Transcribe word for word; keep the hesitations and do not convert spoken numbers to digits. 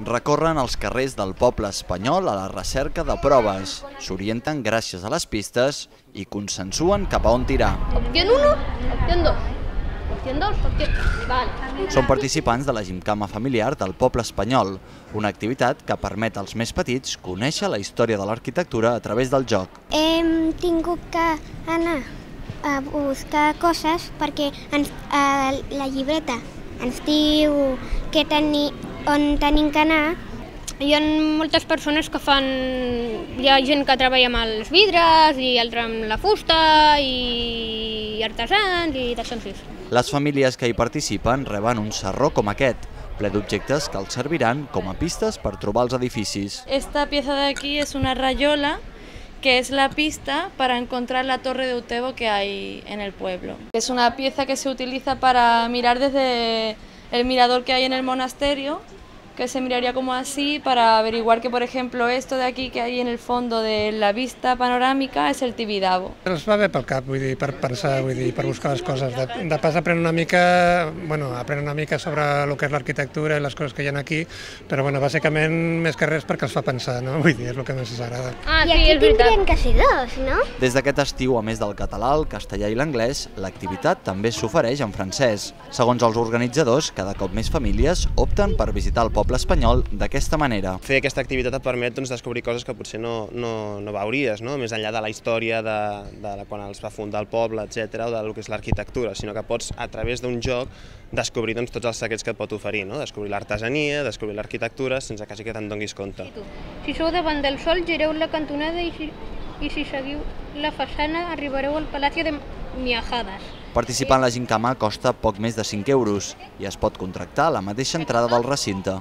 Recorren els carrers del poble espanyol a la recerca de proves, s'orienten gràcies a les pistes i consensuen cap a on tirar. Opción uno, opción dos, opción dos, opción... Vale. Són participants de la gimcama familiar del poble espanyol, una activitat que permet als més petits conèixer la història de l'arquitectura a través del joc. Hem tingut que anar a buscar coses perquè ens, a la llibreta ens diu que teni, on tenim que anar. Hi ha moltes persones que fan... Hi ha gent que treballa amb els vidres i altra amb la fusta i artesans i d'ascensors. Les famílies que hi participen reben un sarró com aquest, ple d'objectes que els serviran com a pistes per trobar els edificis. Esta pieza de aquí es una rayola, que es la pista para encontrar la torre de Utebo que hay en el pueblo. Es una pieza que se utiliza para mirar desde el mirador que hay en el monasterio, que se miraría como así para averiguar que, por ejemplo, esto de aquí que hay en el fondo de la vista panorámica es el Tibidabo. Els va bé pel cap, vull dir, per pensar, vull dir, per buscar les coses. De, de pas aprèn una mica, bueno, aprèn una mica sobre el que és l'arquitectura i les coses que hi ha aquí, però bueno, bàsicament més que res perquè els fa pensar, no? Vull dir, és el que més ens agrada. Ah, I sí, aquí és veritat. tindrien que ser dos, no? Des d'aquest estiu, a més del català, el castellà i l'anglès, l'activitat també s'ofereix en francès. Segons els organitzadors, cada cop més famílies opten per visitar el poble espanyol d'aquesta manera. Fer aquesta activitat et permet doncs, descobrir coses que potser no, no, no veuries, no? Més enllà de la història de, de quan els va fundar el poble, etcètera, o del que és l'arquitectura, sinó que pots, a través d'un joc, descobrir doncs, tots els secrets que et pot oferir, no? Descobrir l'artesania, descobrir l'arquitectura, sense quasi que te'n donis compte. Si sou davant del sol, gireu la cantonada i si, i si seguiu la façana arribareu al Palacio de Miajadas. Participar en la gimcama costa poc més de cinc euros i es pot contractar a la mateixa entrada del recinte.